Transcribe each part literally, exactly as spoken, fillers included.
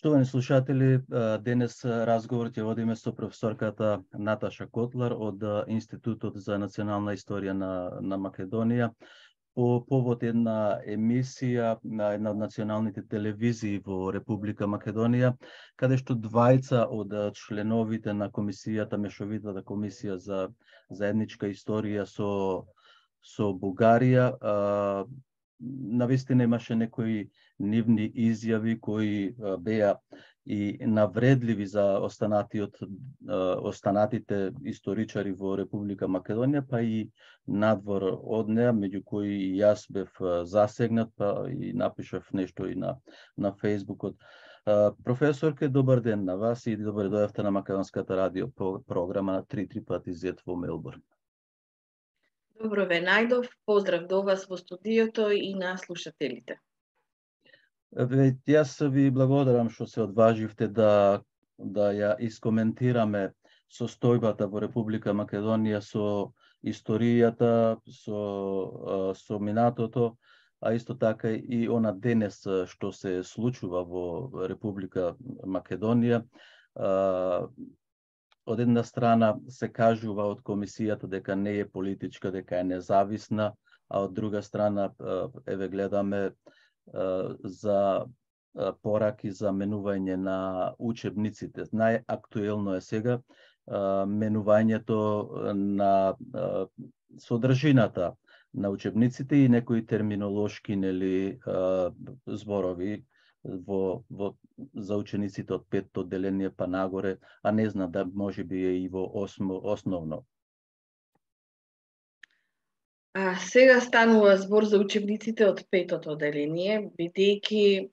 Штовани слушатели, денес разговорот ќе водиме со професорката Наташа Котлар од Институтот за национална историја на, на Македонија по повод една емисија на една од националните телевизии во Република Македонија, каде што двајца од членовите на комисијата, мешовитата комисија за заедничка историја со со Бугарија, а, навистина имаше некои нивни изјави кои беа и навредливи за останатиот останатите историчари во Република Македонија, па и надвор од неа, меѓу кои и јас бев засегнат, па и напишав нешто и на на Фејсбукот. Професорке, добар ден на вас и добре дојавте на Македонската радио програма на три три пати зет во Мелбурн. Добро ве најдов, поздрав до вас во студиото и на слушателите. Ве, јас ви благодарам што се одваживте да да ја искоментираме состојбата во Република Македонија со историјата, со со минатото, а исто така и она денес што се случува во Република Македонија. Од една страна се кажува од комисијата дека не е политичка, дека е независна, а од друга страна еве гледаме за пораки за менување на учебниците. Најактуелно е сега менувањето на содржината на учебниците и некои терминолошки, нели, зборови во, во за учениците од петто одделение па нагоре, а не знам да може би е и во осмо, основно. А, сега станува збор за учебниците од петото одделение, бидејќи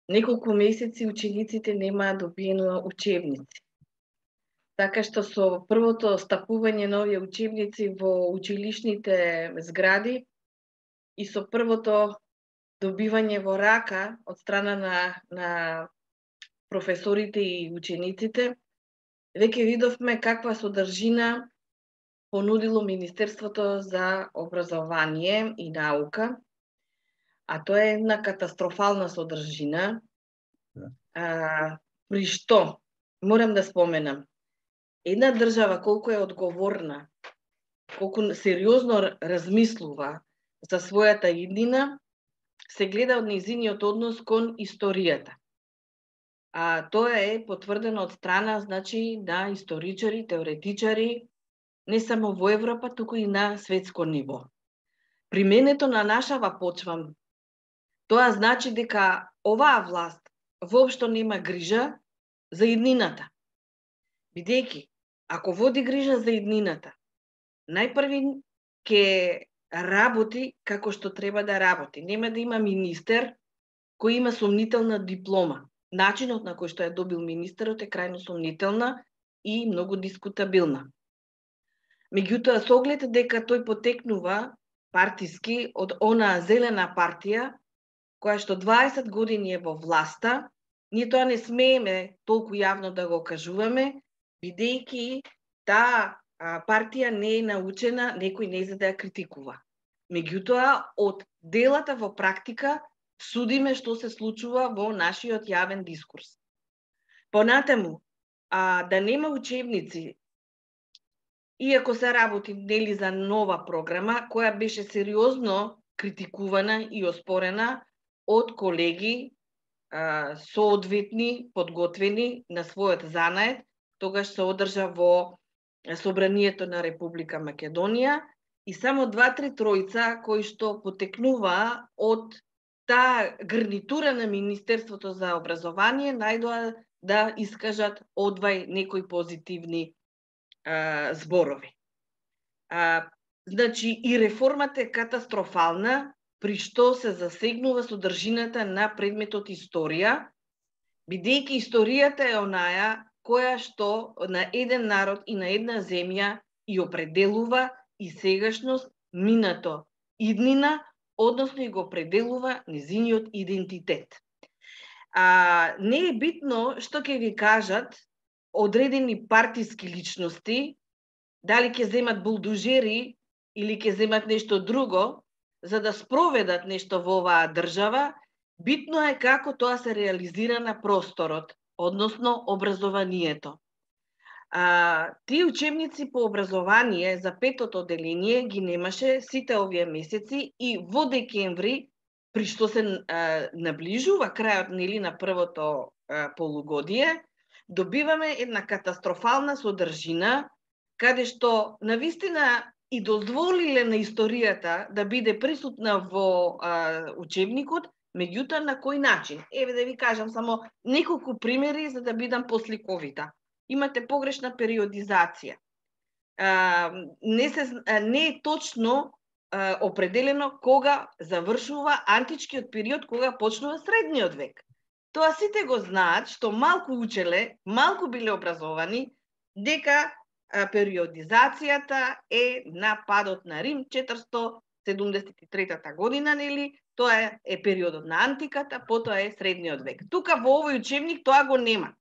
неколку месеци учениците немаат добиено учебници. Така што со првото стапување на овие учебници во училишните згради и со првото добивање во рака од страна на, на професорите и учениците, веќе видовме каква содржина понудило Министерството за образование и наука, а тоа е една катастрофална содржина, а, при што, морам да споменам, една држава колку е одговорна, колку сериозно размислува за својата иднина, се гледа од нејзиниот однос кон историјата. А тоа е потврдено од страна, значи, на историчари, теоретичари, не само во Европа, туку и на светско ниво. Применето на нашава почва, тоа значи дека оваа власт воопшто нема грижа за иднината. Бидејќи, ако води грижа за иднината, најпрви ќе работи како што треба да работи. Нема да има министер кој има сомнителна диплома. Начинот на кој што ја добил министерот е крајно сомнителна и многу дискутабилна. Меѓутоа, со оглед дека тој потекнува партиски од она зелена партија, која што дваесет години е во власта, ние тоа не смееме толку јавно да го кажуваме, бидејќи таа партија не е научена некој не за да ја критикува. Меѓутоа, од делата во практика судиме што се случува во нашиот јавен дискурс. Понатаму, а, да нема учебници, иако се работи нели за нова програма, која беше сериозно критикувана и оспорена од колеги а, соодветни, подготвени на својот занает, тогаш се одржа во Собранието на Република Македонија, и само два-три тројца кои што потекнуваа од таа гарнитура на Министерството за образование најдоа да искажат одвај некои позитивни а, зборови. А, значи, и реформата е катастрофална, при што се засегнува содржината на предметот историја, бидејќи историјата е онаја која што на еден народ и на една земја и определува и сегашност, минато, иднина, односно и го определува незиниот идентитет. А, не е битно што ќе ви кажат одредени партиски личности, дали ќе земат булдужери или ќе земат нешто друго, за да спроведат нешто во оваа држава, Битно е како тоа се реализира на просторот, односно образованието. А, тие учебници по образование за петото одделение ги немаше сите овие месеци и во декември, при што се а, наближува крајот нели на првото а, полугодие, добиваме една катастрофална содржина, каде што навистина и дозволиле на историјата да биде присутна во а, учебникот, меѓутоа на кој начин? Еве да ви кажам само неколку примери за да бидам посликовита. Имате погрешна периодизација. А, не, се, не е точно а, определено кога завршува античкиот период, кога почнува средниот век. Тоа сите го знаат, што малку учеле, малку биле образовани, дека а, периодизацијата е на падот на Рим четиристотини седумдесет и трета година, нели? Тоа е периодот на антиката, потоа е средниот век. Тука во овој учебник тоа го нема.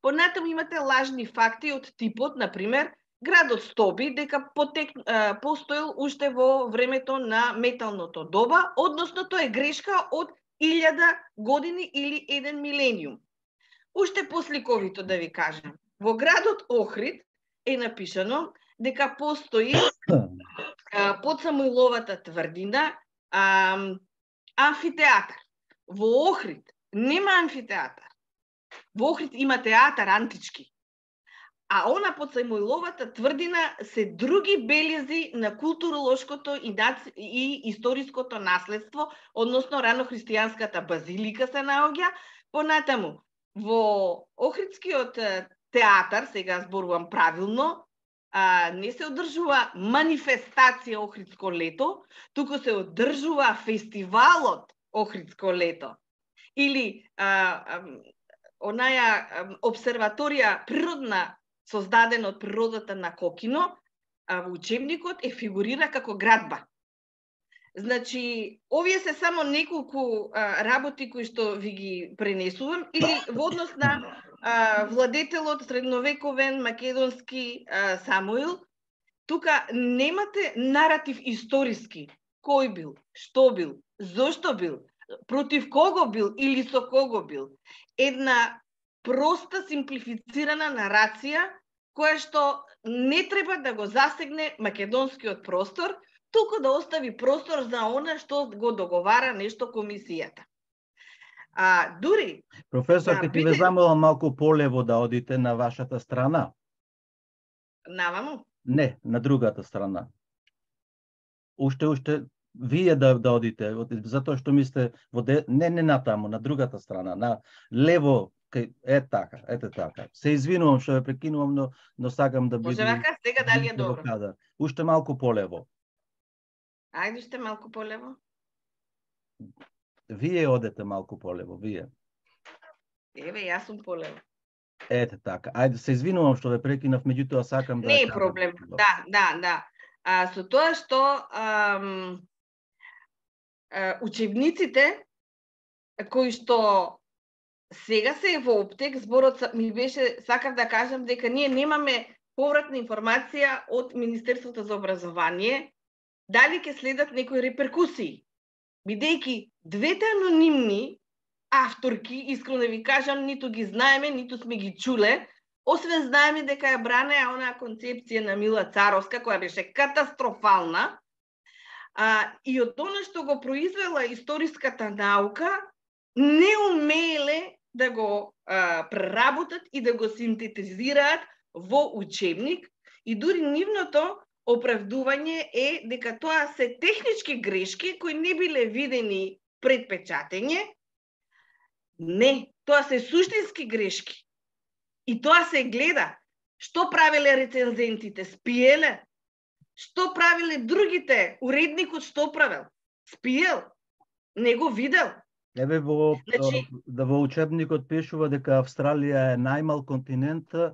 Понатаму имате лажни факти од типот, например, градот Стоби дека потек, а, постоел уште во времето на металното доба, односно тоа е грешка од илјада години или еден милениум. Уште посликовито да ви кажам. Во градот Охрид е напишано дека постои а, под Самуиловата тврдина а, амфитеатар. Во Охрид нема амфитеатар. Во Охрид има театар антички. А она под Самуиловата тврдина се други белези на културолошкото и, наци... и историското наследство, односно ранохристијанската базилика се наоѓа. Понатаму, во Охридскиот театар, сега зборувам правилно, а, не се одржува манифестација Охридско лето, туку се одржува фестивалот Охридско лето. Или а, а, онаја обсерваторија природна создадена од природата на Кокино, а во учебникот е фигурира како градба. Значи, овие се само неколку а, работи кои што ви ги пренесувам, или во однос на а, владетелот средновековен македонски а, Самуил, тука немате наратив историски. Кој бил, што бил, зошто бил, против кого бил или со кого бил. Една проста, симплифицирана нарација, која што не треба да го засегне македонскиот простор, туку да остави простор за она што го договара нешто комисијата. А дури професор, ќе ти ве замолам малку полево да одите на вашата страна. Наваму? Не, на другата страна. Уште уште вие да да одите, затоа што ми сте во де... не не натаму, на другата страна, на лево. Е така, ете така. Се извинувам што ве прекинувам, но, но сакам да бидам... Може вака, сега дали е добро? Кадар. Уште малку полево. Ајде уште малку полево. Вие одете малку полево, вие. Еве, јас сум полево. Ете така. Ајде, се извинувам што ве прекинав, меѓутоа сакам да... Не е проблем. Да, да, да. А, со тоа што ам, а, учебниците кои што сега се е во оптек, зборот ми беше, сакав да кажам дека ние немаме повратна информација од Министерството за образование, дали ќе следат некои реперкусии. Бидејќи двете анонимни авторки, искрено да ви кажам, ниту ги знаеме, ниту сме ги чуле, освен знаеме дека ја бранеа онаа концепција на Мила Царовска, која беше катастрофална, а, и од она што го произвела историската наука, не умееле да го а, преработат и да го синтетизираат во учебник, и дури нивното оправдување е дека тоа се технички грешки кои не биле видени пред печатење. Не, тоа се суштински грешки. И тоа се гледа. Што правеле рецензентите? Спиеле? Што правиле другите? Уредникот што правил? Спиел? Не го видел? Еве во, Значи... да во учебникот пишува дека Австралија е најмал континент, а,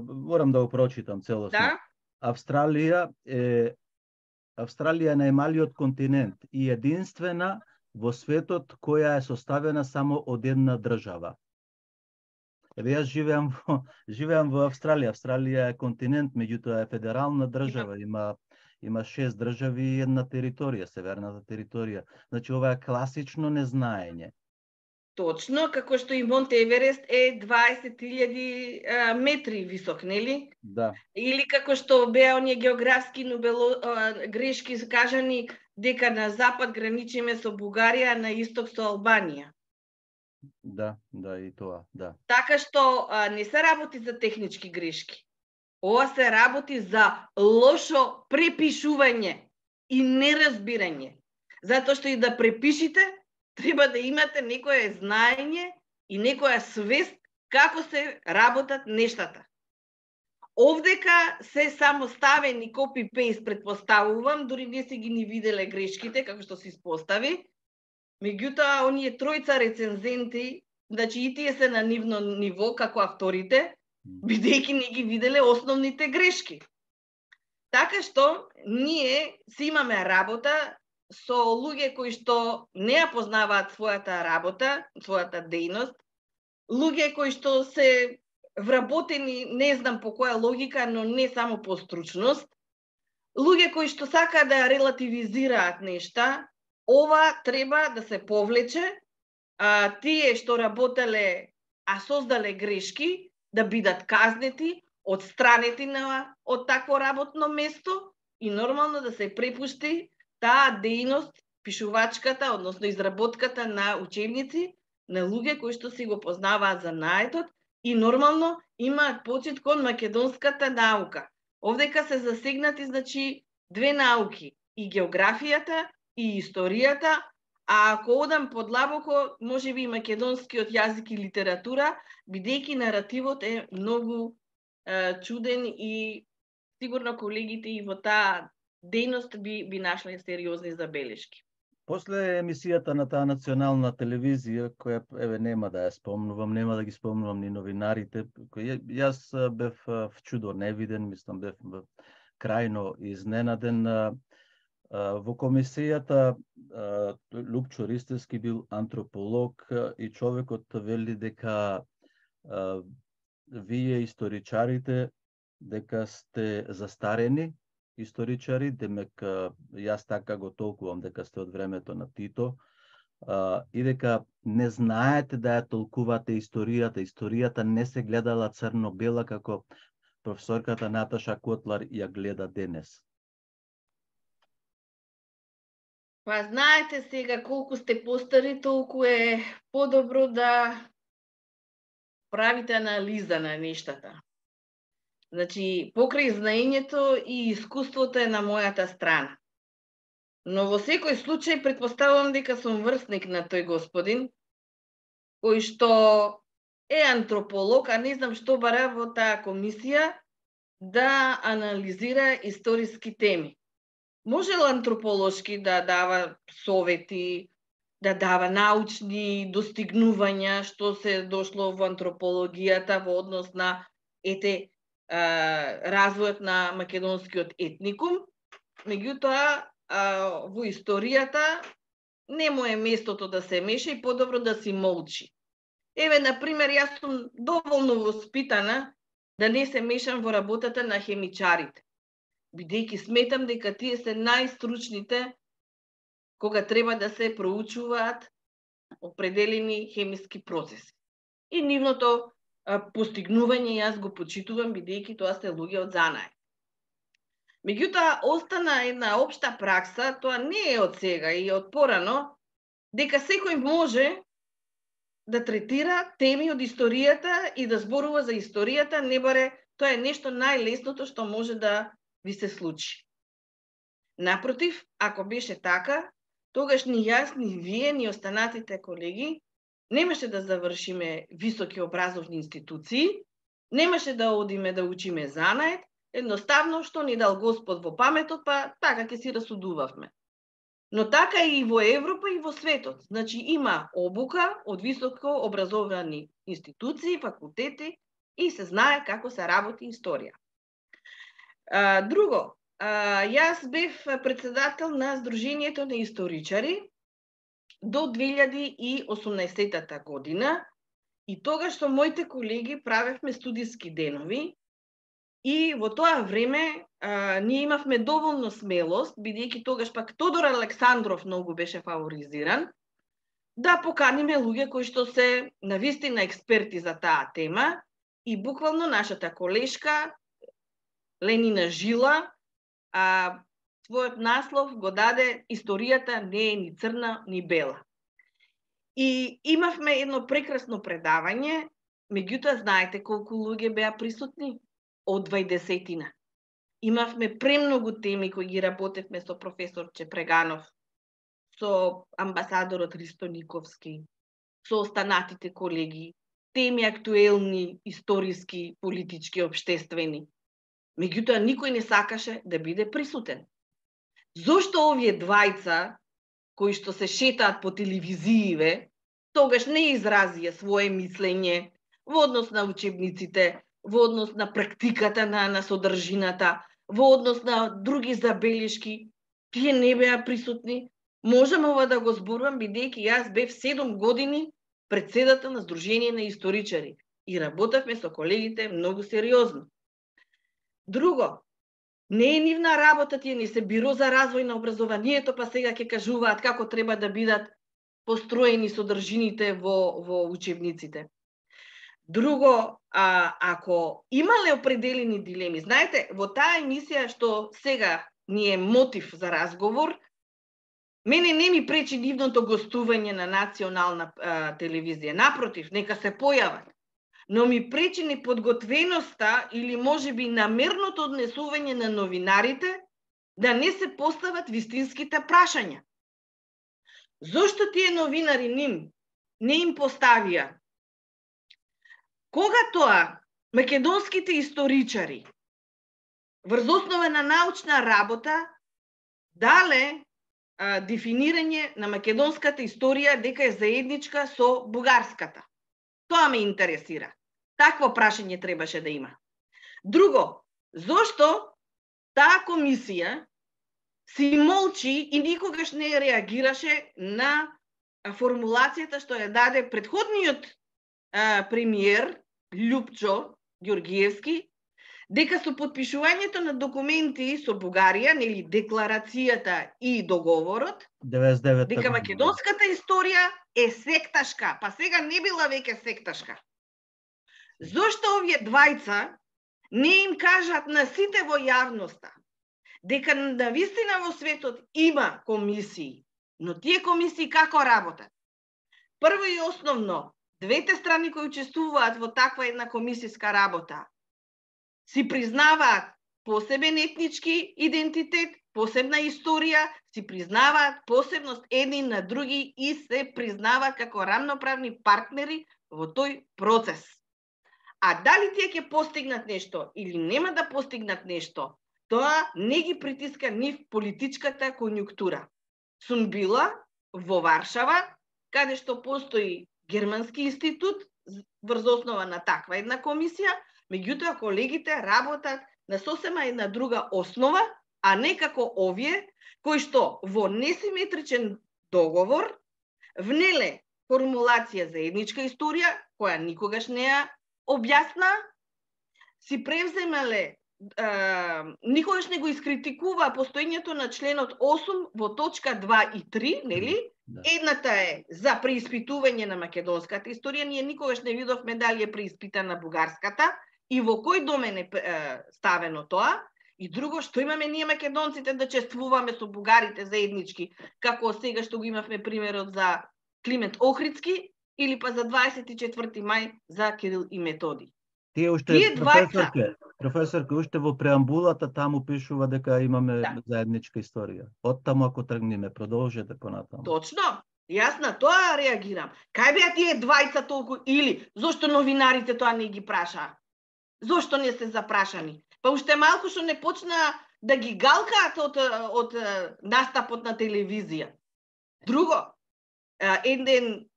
морам да го прочитам целосно. Да? Австралија е Австралија е најмалиот континент и единствена во светот која е составена само од една држава. Еве јас живеам во живеам во Австралија. Австралија е континент, меѓутоа е федерална држава, има има шест држави и една територија, северната територија. Значи ова е класично незнаење. Точно, како што и Монт Еверест е дваесет илјади метри висок, нели? Да. Или како што беа оние географски нобело, а, грешки кажани дека на запад граничиме со Бугарија, а на исток со Албанија. Да, да, и тоа, да. Така што а, не се работи за технички грешки. Ова се работи за лошо препишување и неразбирање. Затоа што и да препишите, треба да имате некое знаење и некоја свест како се работат нештата. Овдека се само ставени копи-пейст, предпоставувам, дури не се ги ни виделе грешките, како што се испостави. Меѓутоа, оние тројца рецензенти, значи и тие се на нивно ниво, како авторите, бидејќи не ги виделе основните грешки. Така што, ние си имаме работа со луѓе кои што не ја познаваат својата работа, својата дејност, луѓе кои што се вработени, не знам по која логика, но не само по стручност, луѓе кои што сакаат да ја релативизираат нешта. Ова треба да се повлече, а, тие што работеле, а создале грешки, да бидат казнети, одстранети на, од такво работно место и нормално да се препушти таа дејност, пишувачката, односно изработката на учебници, на луѓе кои што си го познаваат занаетот и нормално имаат почит кон македонската наука. Овдека се засегнати, значи, две науки, и географијата, и историјата, а ако одам подлабоко, може би и македонскиот јазик и литература, бидејќи наративот е многу е, чуден и сигурно колегите и во таа дејност би, би нашле сериозни забелешки. После емисијата на таа национална телевизија, која еве нема да ја спомнувам, нема да ги спомнувам ни новинарите, кој јас бев вчудо невиден, мислам бев крајно изненаден. Во комисијата Лупчо Ристевски бил антрополог и човекот вели дека вие историчарите дека сте застарени историчари, демек јас така го толкувам дека сте од времето на Тито, и дека не знаете да ја толкувате историјата. Историјата не се гледала црно-бела како професорката Наташа Котлар ја гледа денес. Па знаете сега колку сте постари, толку е подобро да правите анализа на нештата. Значи, покрај знаењето и искуството е на мојата страна. Но во секој случај претпоставувам дека сум врсник на тој господин, кој што е антрополог, а не знам што бара во таа комисија да анализира историски теми. Можел антрополошки да дава совети, да дава научни достигнувања, што се дошло во антропологијата во однос на ете развојот на македонскиот етникум, меѓутоа во историјата не му е местото да се меша и подобро да си молчи. Еве, например, јас сум доволно воспитана да не се мешам во работата на хемичарите, бидејќи сметам дека тие се најстручните кога треба да се проучуваат определени хемиски процеси. И нивното постигнување јас го почитувам, бидејќи тоа се луѓе од занае. Меѓутоа, остана една општа пракса, тоа не е од сега и од порано, дека секој може да третира теми од историјата и да зборува за историјата, не баре тоа е нешто најлесното што може да ви се случи. Напротив, ако беше така, тогаш ни јас, ни вие, ни останатите колеги немаше да завршиме високи образовни институции, немаше да одиме да учиме занаед, едноставно што ни дал Господ во паметот, па така ќе си расудувавме. Но така и во Европа и во светот. Значи има обука од високо образовани институции, факултети и се знае како се работи историја. А, друго, а, јас бев председател на Сдруженијето на историчари до две илјади и осумнаесетта година и тогаш со моите колеги правевме студиски денови и во тоа време а, ние имавме доволно смелост, бидејќи тогаш пак Тодор Александров многу беше фаворизиран, да поканиме луѓе кои што се навистина експерти за таа тема и буквално нашата колешка Ленина Жила а, својот наслов го даде "Историјата не е ни црна ни бела". И имавме едно прекрасно предавање, меѓутоа знаете колку луѓе беа присутни? Од двајдесетина. Имавме премногу теми кои ги работевме со професор Чепреганов, со амбасадорот Ристо Никовски, со останатите колеги, теми актуелни, историски, политички, обштествени. Меѓутоа, никој не сакаше да биде присутен. Зошто овие двајца, кои што се шетаат по телевизииве, тогаш не изразија свое мислење во однос на учебниците, во однос на практиката на, на содржината, во однос на други забелешки, тие не беа присутни? Можам ова да го зборувам, бидејќи јас бев седум години председател на Сдружение на историчари и работевме со колегите многу сериозно. Друго, не е нивна работа, тие не се Биро за развој на образованието, па сега ќе кажуваат како треба да бидат построени содржините во, во учебниците. Друго, а, ако имале определени дилеми, знаете, во таа емисија што сега ни е мотив за разговор, мене не ми пречи нивното гостување на национална а, телевизија. Напротив, нека се појават. Но ми пречи неподготвеноста или можеби намерното однесување на новинарите да не се постават вистинските прашања. Зошто тие новинари ним не им поставија? Кога тоа македонските историчари врз основа на научна работа дале а, дефинирање на македонската историја дека е заедничка со бугарската? Тоа ме интересира. Такво прашање требаше да има. Друго, зошто таа комисија си молчи и никогаш не реагираше на формулацијата што ја даде претходниот а, премиер Љупчо Ѓоргиевски, дека со подпишувањето на документи со Бугарија, нели декларацијата и договорот, деветдесет и девета дека македонската историја е секташка, па сега не била веќе секташка. Зошто овие двајца не им кажат на сите во јавноста дека навистина во светот има комисии, но тие комисии како работат? Прво и основно, двете страни кои учествуваат во таква една комисијска работа си признаваат посебен етнички идентитет, посебна историја, си признаваат посебност едни на други и се признаваат како рамноправни партнери во тој процес. А дали тие ќе постигнат нешто или нема да постигнат нешто, тоа не ги притиска нив политичката конјунктура. Сум била во Варшава, каде што постои германски институт врз основа на таква една комисија, меѓутоа колегите работат на сосема една друга основа, а не како овие, кои што во несиметричен договор внеле формулација за етничка историја, која никогаш не ја објасна, си превземале, а, никогаш не го искритикува постоењето на членот осум во точка два и три, нели? Да. Едната е за преиспитување на македонската историја, ние никогаш не видовме дали е преиспитана бугарската и во кој домен е ставено тоа. И друго, што имаме ние македонците да чествуваме со бугарите заеднички, како сега што го имавме примерот за Климент Охридски или па за дваесет и четврти мај за Кирил и Методи. Тие уште Тие професорке, професорке уште во преамбулата таму пишува дека имаме да. заедничка историја. Од таму ако тргнеме, продолжете понатаму. Точно. Јас на тоа реагирам. Кај беа тие двајца толку или зошто новинарите тоа не ги прашаа? Зошто не се запрашани? Па уште малку што не почна да ги галкаат од, од настапот на телевизија. Друго, еден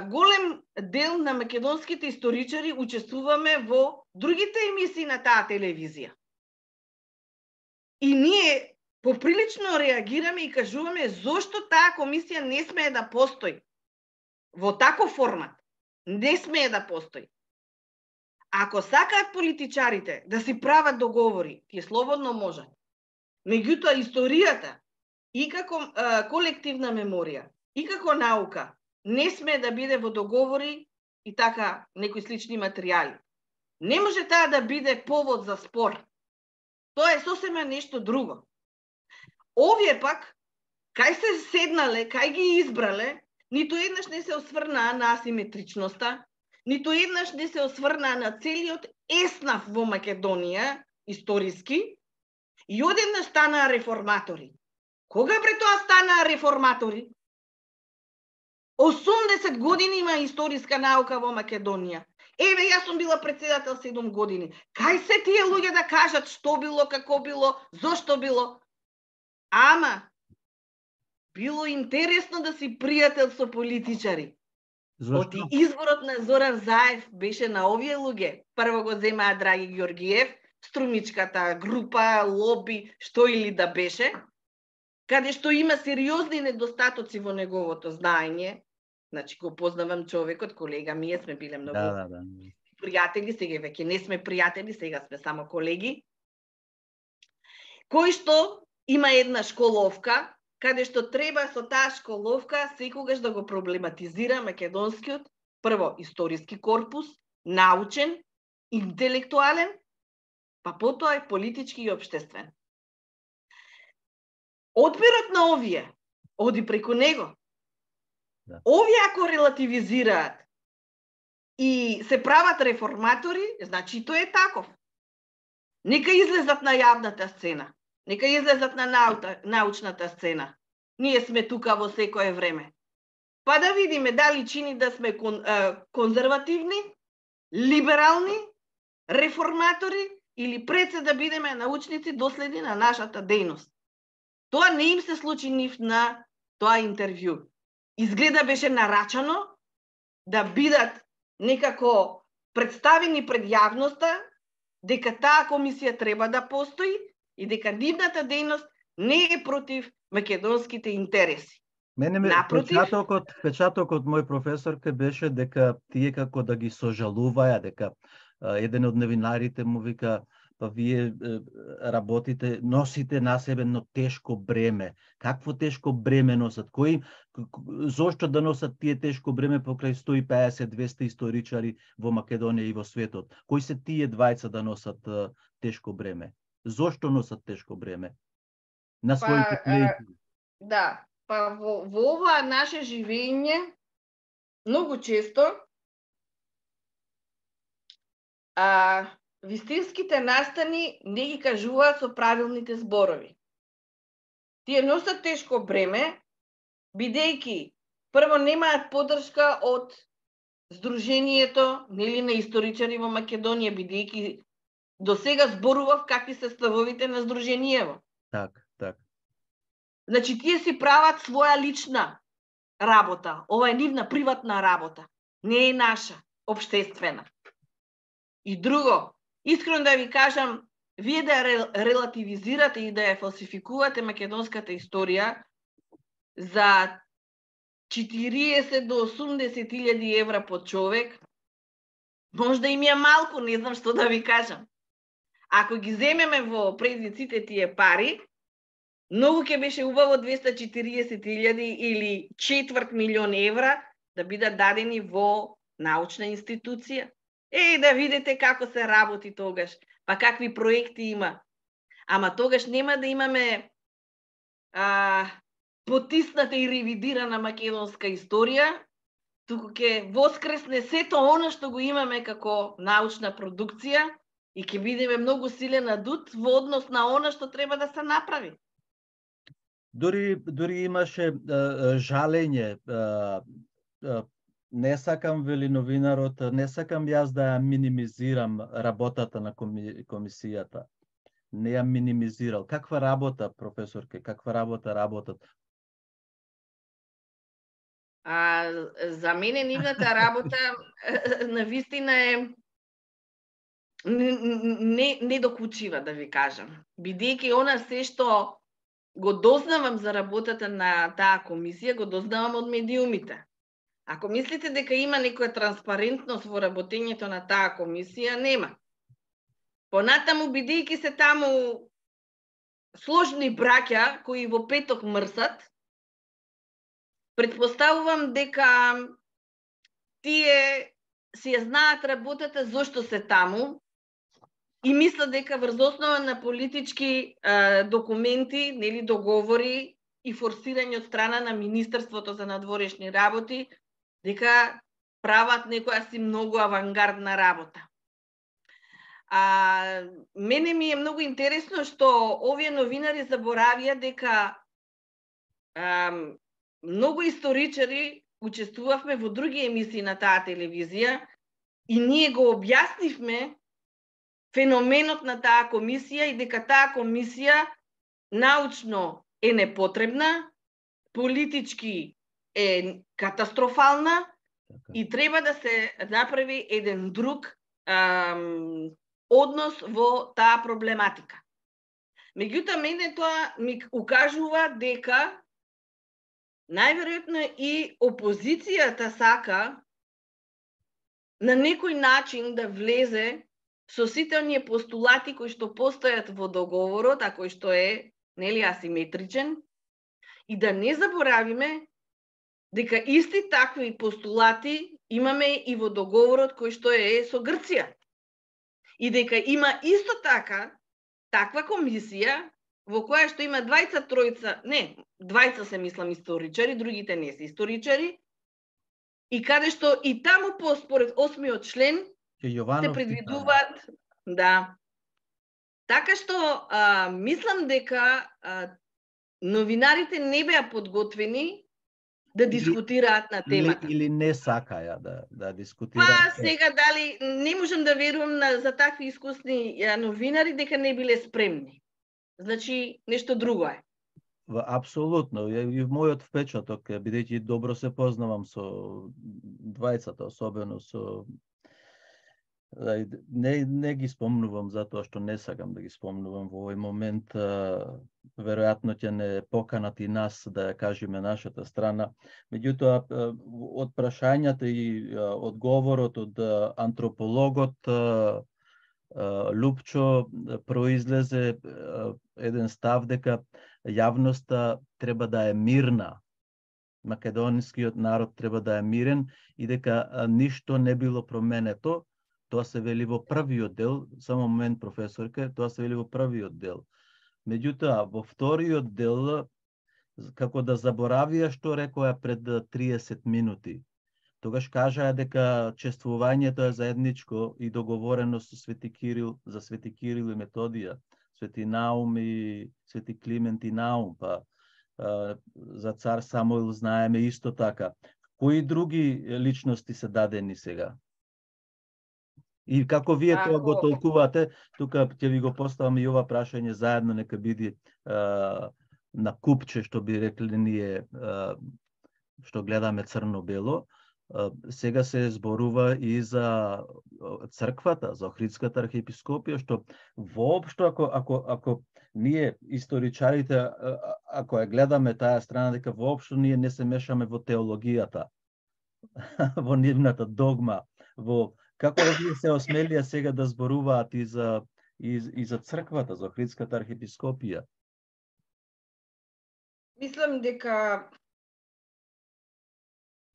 голем дел на македонските историчари учествуваме во другите емисии на таа телевизија. И ние поприлично реагираме и кажуваме зошто таа комисија не смее да постои во таков формат. Не смее да постои. Ако сакаат политичарите да си прават договори, тие слободно можат. Меѓутоа историјата и како а, колективна меморија, и како наука, не сме да биде во договори и така некои слични материјали. Не може таа да биде повод за спор. Тоа е сосема нешто друго. Овие пак, кај се седнале, кај ги избрале, ниту еднаш не се осврнаа на асиметричноста, ниту еднаш не се осврнаа на целиот еснав во Македонија, историски, и одеднаш станаа реформатори. Кога бре тоа станаа реформатори? осумдесет години има историска наука во Македонија. Еве, јас сум била председател седум години. Кај се тие луѓе да кажат што било, како било, зошто било? Ама, било интересно да си пријател со политичари. Оти изборот на Зоран Заев беше на овие луѓе. Прво го земаа Драги Ѓоргиев, струмичката група, лоби, што или да беше, каде што има сериозни недостатоци во неговото знаење. Значи, го познавам човекот, колега ми е, сме биле многу да, да, да. пријатели, сега веќе не сме пријатели, сега сме само колеги. Кој што има една школовка, каде што треба со таа школовка секогаш да го проблематизира македонскиот, прво, историски корпус, научен, интелектуален, па потоа и политички и општествен. Одбирот на овие оди преку него. Да. Овие ако релативизираат и се прават реформатори, значи тоа е таков. Нека излезат на јавната сцена, нека излезат на наута, научната сцена. Ние сме тука во секое време. Па да видиме дали чини да сме кон, е, конзервативни, либерални, реформатори или пред се да бидеме научници доследни на нашата дејност. Тоа не им се случи нив на тоа интервју. Изгледа беше нарачано да бидат некако представени пред јавноста дека таа комисија треба да постои и дека нивната дејност не е против македонските интереси. Мене ме, Напротив, печатокот, печатокот мој професорке беше дека тие како да ги сожалуваја, дека а, еден од новинарите му вика, па вие е, работите, носите на себе едно тешко бреме. Какво тешко бреме носат? Кои, зошто да носат тие тешко бреме покрај сто и песет до двесте историчари во Македонија и во светот? Кои се тие двајца да носат а, тешко бреме? Зошто носат тешко бреме? На своите плеќи. Да, па во, во ова наше живење многу често а, вистинските настани не ги кажуваат со правилните зборови. Тие носат тешко бреме, бидејќи прво немаат поддршка од Сдруженијето, нели, на историчари во Македонија, бидејќи до сега зборував какви се ставовите на Сдруженијево. Так, так. Значи, тие си прават своја лична работа. Ова е нивна приватна работа. Не е наша, општествена. И друго, искрено да ви кажам, вие да ја релативизирате и да ја фалсификувате македонската историја за четириесет до осумдесет илјади евра по човек, можда им е малку, не знам што да ви кажам. Ако ги земеме во предиците тие пари, многу ќе беше убаво двесте и четириесет илјади или четврт милион евра да бидат дадени во научна институција. Е, да видите како се работи тогаш, па какви проекти има. Ама тогаш нема да имаме а, потисната и ревидирана македонска историја, туку ќе воскресне сето она што го имаме како научна продукција и ќе бидеме многу силен адут во однос на она што треба да се направи. Дори, дори имаше а, жалење, а, а, не сакам, вели новинарот, не сакам јас да ја минимизирам работата на коми, комисијата. Не ја минимизирал. Каква работа, професорке, каква работа работат? А, за мене нивната работа на вистина е не, не докучива, да ви кажам. Бидејќи она се што го дознавам за работата на таа комисија, го дознавам од медиумите. Ако мислите дека има некоја транспарентност во работењето на таа комисија, нема. Понатаму, бидејќи се таму сложни браќа кои во петок мрсат, Предпоставувам дека тие си ја знаат работата зошто се таму и мислат дека врз основа на политички е, документи, нели договори и форсирање од страна на Министерството за надворешни работи, дека прават некоја си многу авангардна работа. А мене ми е многу интересно што овие новинари заборавија дека а, многу историчари учествувавме во други емисии на таа телевизија и ние го објаснивме феноменот на таа комисија и дека таа комисија научно е непотребна, политички е катастрофална и треба да се направи еден друг ам, однос во таа проблематика. Меѓутоа, мене тоа ми укажува дека најверојатно и опозицијата сака на некој начин да влезе со сите оние постулати кои што постојат во договорот, а кој што е, нели, асиметричен, и да не заборавиме дека исти такви постулати имаме и во договорот кој што е со Грција. И дека има исто така таква комисија во која што има двајца тројца, не, двајца се мислам историчари, другите не се историчари, и каде што и таму по според осмиот член се предвидуваат, да. Така што а, мислам дека а, новинарите не беа подготвени да дискутираат на темата. Или, или не сакаја да, да дискутираат. Па сега дали не можам да верувам на, за такви искусни а, новинари дека не биле спремни. Значи нешто друго е. Апсолутно. И мојот впечаток е, бидејќи добро се познавам со двајцата, особено со Не, не ги спомнувам затоа што не сакам да ги спомнувам во овој момент. Веројатно ќе не поканат и нас да ја кажеме нашата страна. Меѓутоа, од прашањата и одговорот од антропологот Лупчо произлезе еден став дека јавноста треба да е мирна. Македонскиот народ треба да е мирен и дека ништо не било променето. Тоа се вели во првиот дел, само момент професорке, тоа се вели во првиот дел. Меѓутоа, во вториот дел, како да заборавија што рекоа пред триесет минути. Тогаш кажаа дека чествувањето е заедничко и договорено со Свети Кирил, за Свети Кирил и Методија, Свети Наум и Свети Климент и Наум, па за цар Самуил знаеме исто така. Кои други личности се дадени сега? И како вие тоа го толкувате, тука ќе ви го поставам и ова прашање заедно, нека биде а, на купче, што би рекли ние, а, што гледаме црно-бело. А, сега се зборува и за црквата, за Охридската архиепископија, што воопшто ако ако ако ние историчарите ако ја гледаме таа страна, дека воопшто ние не се мешаме во теологијата, во нивната догма, во како овие се осмелија сега да зборуваат и за, и, и за црквата, за Охридската архиепископија? Мислам дека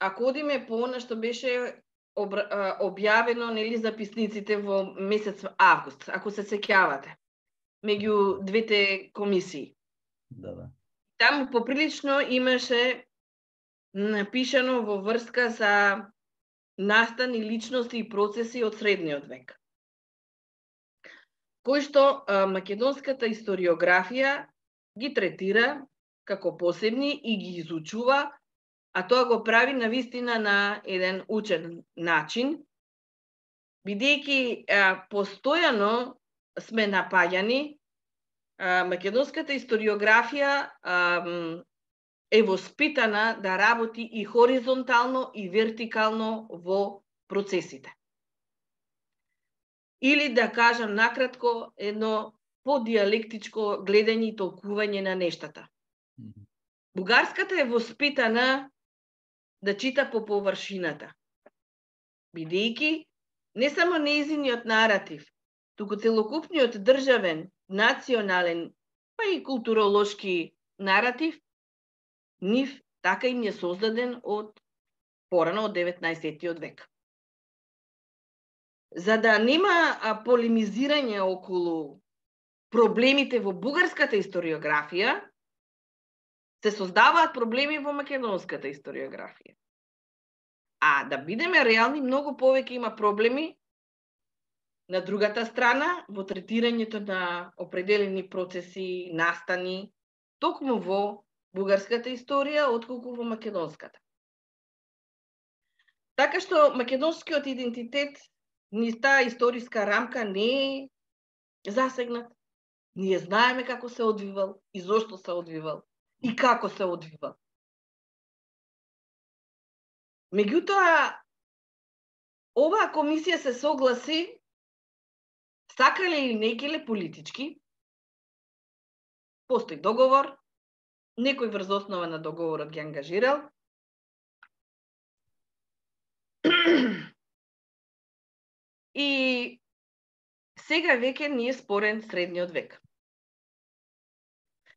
ако одиме по она што беше објавено, нели, записниците во месец август, ако се сеќавате, меѓу двете комисии. Да, да. Таму поприлично имаше напишано во врска за настани личности и процеси од средниот век, кои што а, македонската историографија ги третира како посебни и ги изучува, а тоа го прави на вистина на еден учен начин, бидејќи постојано сме напаѓани, а, македонската историографија а, е воспитана да работи и хоризонтално и вертикално во процесите. Или да кажам накратко, едно подиалектичко гледање и толкување на нештата. Бугарската е воспитана да чита по површината, бидејќи не само нејзиниот наратив, туку целокупниот државен, национален, па и културолошки наратив, нив така им е создаден од порано од деветнаесеттиот век. За да нема полемизирање околу проблемите во бугарската историографија, се создаваат проблеми во македонската историографија. А да бидеме реални, многу повеќе има проблеми на другата страна во третирањето на определени процеси, настани, токму во бугарската историја, отколку во македонската. Така што македонскиот идентитет низ таа историска рамка не е засегнат. Ние знаеме како се одвивал и зошто се одвивал и како се одвивал. Меѓутоа, оваа комисија се согласи, сакале или не келе политички, постои договор, некој врз основа на договорот ги ангажирал, и сега веќе ни е спорен средниот век.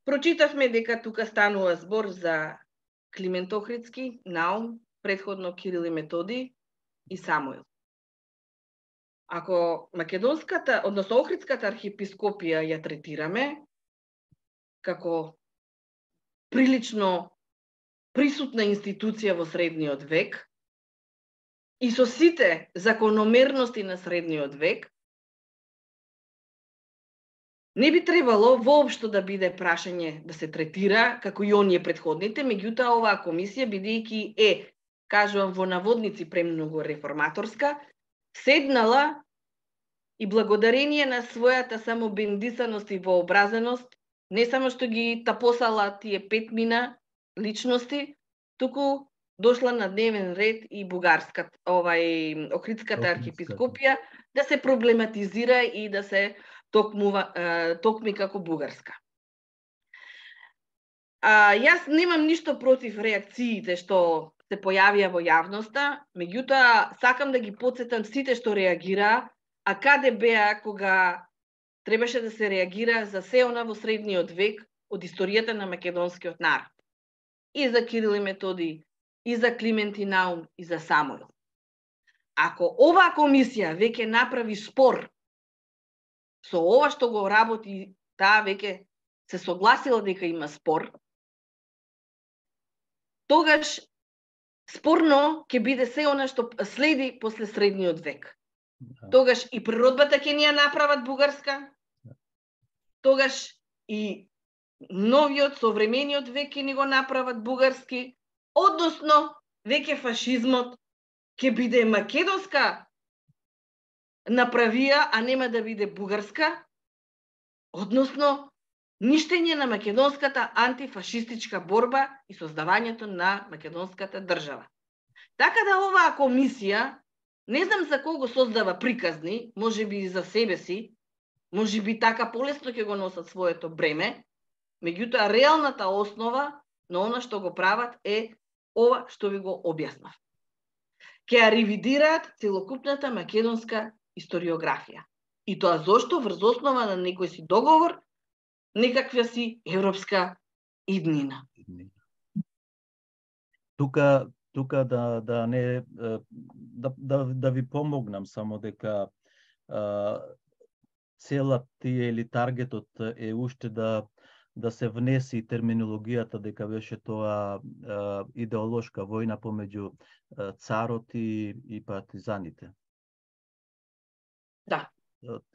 Прочитавме дека тука станува збор за Климент Охридски, Наум, предходно Кирил и Методи и Самуил. Ако македонската, односно Охридската архиепископија ја третираме како прилично присутна институција во средниот век и со сите закономерности на средниот век, не би требало воопшто да биде прашање да се третира како и оние предходните, меѓутоа оваа комисија, бидејќи е, кажувам во наводници, премногу реформаторска, седнала и благодарение на својата самобендисаност и вообразеност, не само што ги тапосала тие пет мина личности, туку дошла на дневен ред и бугарската, овај Охридската архиепископија да се проблематизира и да се токмува, токми како бугарска. А, јас немам ништо против реакциите што се појавија во јавноста, меѓутоа сакам да ги потсетам сите што реагираа, а каде беа кога требаше да се реагира за се она во средниот век од историјата на македонскиот народ. И за Кирил и Методи, и за Климент и Наум, и за Самуил. Ако оваа комисија веќе направи спор со ова што го работи, таа веќе се согласила дека има спор, тогаш спорно ќе биде се она што следи после средниот век. Тогаш и природбата ќе ни ја направат бугарска, тогаш и новиот, современиот век ќе ни го направат бугарски, односно веќе фашизмот ќе биде македонска направија, а нема да биде бугарска, односно ништење на македонската антифашистичка борба и создавањето на македонската држава. Така да оваа комисија, не знам за кого создава приказни, може би и за себе си, може би така полесно ќе го носат своето бреме, меѓутоа реалната основа на она што го прават е ова што ви го објаснав. Ке ја ревидираат целокупната македонска историографија. И тоа зошто врз основа на некој си договор, некаква си европска иднина. Тука тука да да не да да, да ви помогнам само дека а, целата тие или таргетот е уште да да се внеси терминологијата дека беше тоа а, идеолошка војна помеѓу а, царот и, и партизаните. Да.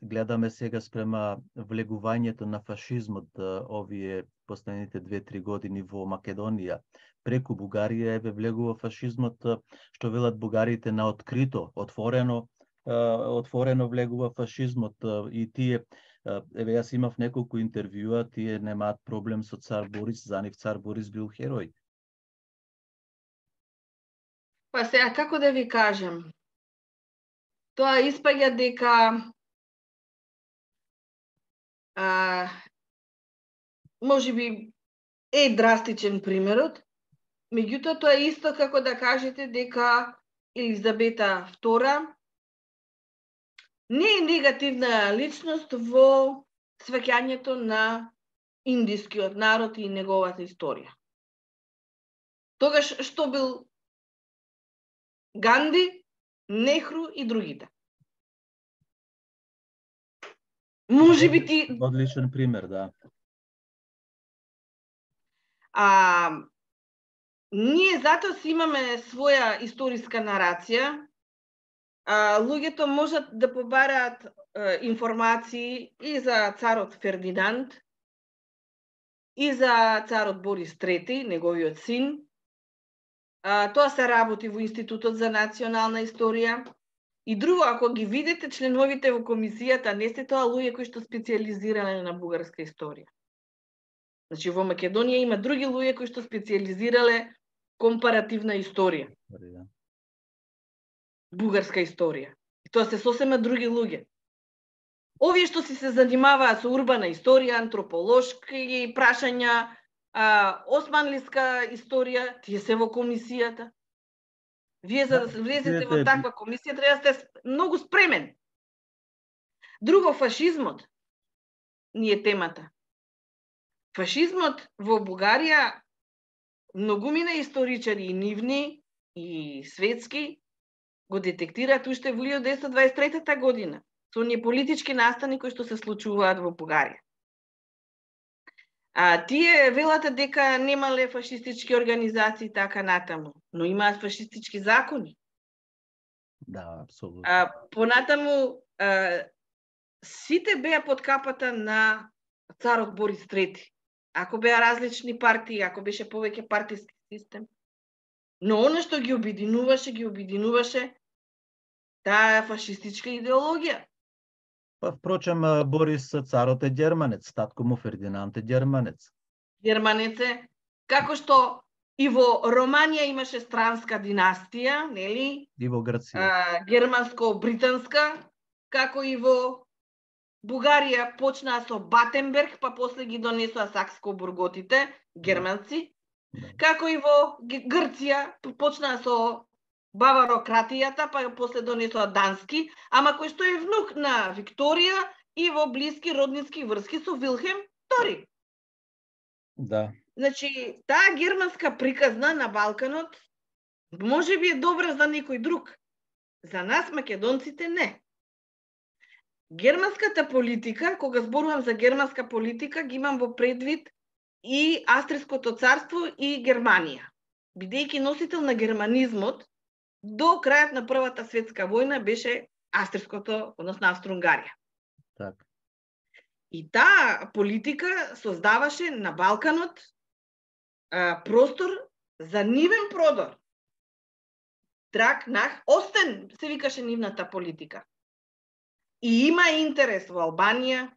Гледаме сега спрема влегувањето на фашизмот овие последните две-три години во Македонија. Преку Бугарија еве влегува фашизмот, што велат бугарите, на открито, отворено, отворено влегува фашизмот и тие, еве јас имав неколку интервјуа, тие немаат проблем со цар Борис, за нив цар Борис бил херој. Па сега како да ви кажам? Тоа испаѓа дека а, може би е драстичен примерот, меѓутоа тоа е исто како да кажете дека Елизабета втора не е негативна личност во сваќањето на индискиот народ и неговата историја. Тогаш што бил Ганди, Нехру и другите? Може би ти... Одличен пример, да. А, ние затоа си имаме своја историска нарација. А, луѓето можат да побараат а, информации и за царот Фердинанд, и за царот Борис трети, неговиот син. А, тоа се работи во Институтот за национална историја. И друго, ако ги видите членовите во комисијата, не се тоа луѓе кои што специализирале на бугарска историја. Значи, во Македонија има други луѓе кои што специализирале компаративна историја. Бугарска историја. И тоа се сосема други луѓе. Овие што си се занимаваат со урбана историја, антрополошки прашања, а, османлиска историја, тие се во комисијата. Вие за да се влезете во таква комисија треба да сте многу спремен. Друго, фашизмот ни е темата. Фашизмот во Бугарија многумина историчари и нивни и светски го детектираат уште во илјада деветстотини дваесет и трета година со оние политички настани кои што се случуваат во Бугарија. А тие велат дека немале фашистички организации така натаму, но имаат фашистички закони. Да, апсолутно. А понатаму а, сите беа под капата на царот Борис трети. Ако беа различни партии, ако беше повеќе партиски систем. Но оно што ги обединуваше, ги обединуваше таа фашистичка идеологија. Па, впрочем, Борис царот е германец, татко му Фердинанд е германец. Германец е, како што и во Романија имаше странска династија, нели? И во Грција. А, германско-британска, како и во Бугарија почнаа со Батенберг, па после ги донесоа сакско-бурготите, германци. Да. Како и во Грција почнаа со баварократијата, па после донесоа дански, ама кој што е внук на Викторија и во блиски роднински врски со Вилхем втори. Да. Значи, таа германска приказна на Балканот може би е добра за некој друг. За нас, македонците, не. Германската политика, кога зборувам за германска политика, ги имам во предвид и Австриското царство и Германија. Бидејќи носител на германизмот, до крајот на Првата светска војна беше Австриското, односно Австро-Унгарија. Так. И таа политика создаваше на Балканот а, простор за нивен продор. Драк нах остен, се викаше нивната политика. И има интерес во Албанија,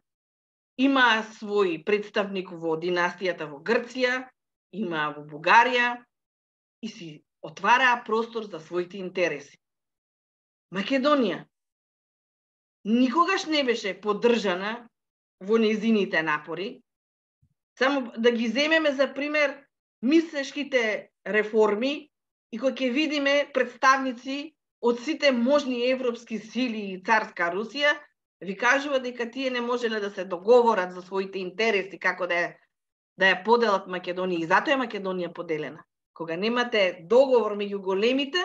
има свој представник во династијата во Грција, има во Бугарија и си отвараа простор за своите интереси. Македонија никогаш не беше поддржана во нејзините напори. Само да ги земеме за пример мислешките реформи и кои ќе видиме представници од сите можни европски сили и царска Русија, ви кажува дека тие не можеле да се договорат за своите интереси, како да ја, да ја поделат Македонија. И затоа е Македонија поделена. Кога немате договор меѓу големите,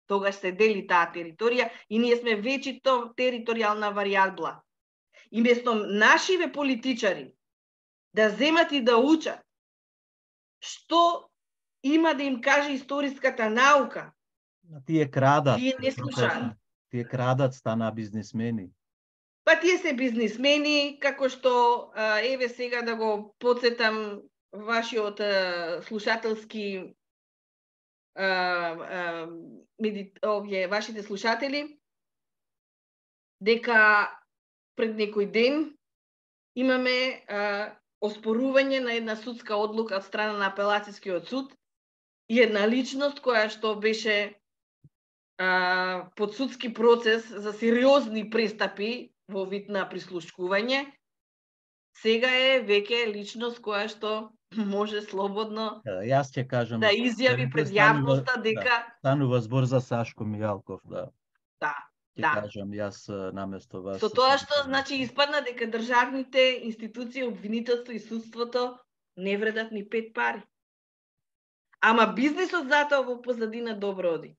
тогаш се дели таа територија и ние сме вечито територијална варијабла. И место нашиве политичари да земат и да учат што има да им каже историската наука, Тие крадат. тие не слушаат. Тие крадат, станаа бизнисмени. Па тие се бизнисмени, како што, а, еве сега да го подсетам вашиот а, слушателски, а, а, меди, овие, вашите слушатели, дека пред некој ден имаме а, оспорување на една судска одлука од страна на апелацијскиот суд и една личност која што беше а, под судски процес за сериозни престапи во вид на прислушкување, сега е веќе личност која што може слободно Јас ќе кажам да изјави пред јавноста дека да, станува збор за Сашко Мијалков, да. Да, Ќе да. кажам јас наместо вас. Со тоа што значи испадна дека државните институции, обвинителство и судството не вредат ни пет пари. ама бизнисот затоа во позадина добро оди.